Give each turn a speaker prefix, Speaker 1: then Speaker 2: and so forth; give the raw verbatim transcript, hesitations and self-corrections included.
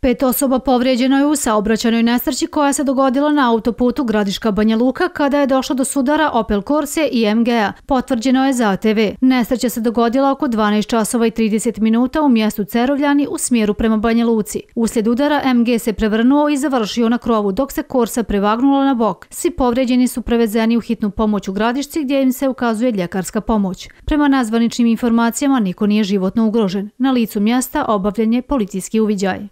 Speaker 1: Pet osoba povrijeđeno je u saobraćajnoj nesreći koja se dogodila na autoputu Gradiška-Banja Luka kada je došlo do sudara Opel Corse i M G-a, potvrđeno je za A T V. Nesreća se dogodila oko dvanaest časova i trideset minuta u mjestu Cerovljani u smjeru prema Banja Luci. Uslijed udara M G se prevrnuo i završio na krovu dok se Corsa prevagnula na bok. Svi povrijeđeni su prevezeni u hitnu pomoć u Gradišci gdje im se ukazuje ljekarska pomoć. Prema nazvaničnim informacijama niko nije životno ugrožen. Na licu mjesta obavljen je policijski uviđaj.